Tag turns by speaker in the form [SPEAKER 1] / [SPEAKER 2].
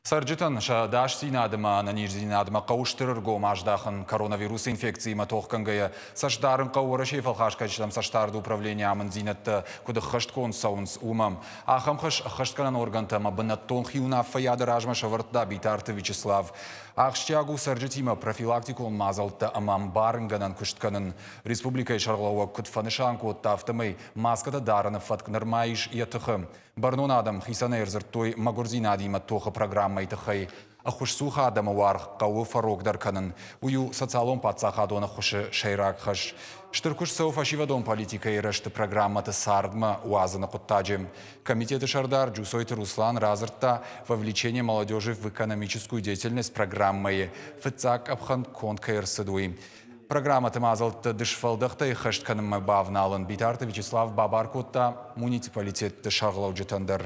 [SPEAKER 1] Цӕрджытӕн сӕ ӕдасдзинад ӕмӕ ӕнӕниздзинадмӕ хъӕуы стыр ӕргом аздахын. Коронавирусы инфекциимӕ тохгӕнгӕйӕ цӕст дарын хъӕуы Уӕрӕсейы фӕлхасгӕнджытӕм цӕстдарды управленийы амынддзинӕдтӕ куыд ӕххӕстгонд цӕуынц, уымӕ. Ахӕм хӕс ӕххӕстгӕнӕн органтӕ ӕмӕ бынӕттон хиуынаффӕйады размӕ сӕвӕрдта Битарты Вячеслав. Ахсджиаг у цӕрджытимӕ профилактикон мадзӕлттӕ ӕмӕ ӕмбарынгӕнӕн куыст кӕнын. Республикӕйы сӕргълӕууӕг куыд фӕнысан кодта, афтӕмӕй маскӕтӕ дарыны фӕтк нырма ис йӕ тыхы. Бӕрнон адӕм хицӕнӕй ӕрдзырдтой мӕгуырдзинадимӕ тохы программӕйы тыххӕй. Ӕххуысцух адӕмы уаргъ хъӕуы фӕрогдӕр кӕнын. Уый у социалон паддзахадон ӕххуысы сӕйраг хӕс. Стыр куыст цӕуы фӕсивӕдон политикӕйы рӕзты программӕты цардмӕ уадзыны хъуыддаджы. Комитеты сӕрдар Джусойты Руслан радзырдта «Вовлечение молодежи в экономическую деятельность» программӕйы фыццаг къӕпхӕн конд кӕй ӕрцыд, уый. Программӕты мадзӕлтты дысфӕлдӕхтӕй хӕст кӕнынмӕ бавналын Битарты Вячеслав бабар кодта муниципалитетты сӕргълӕуджытӕн дӕр.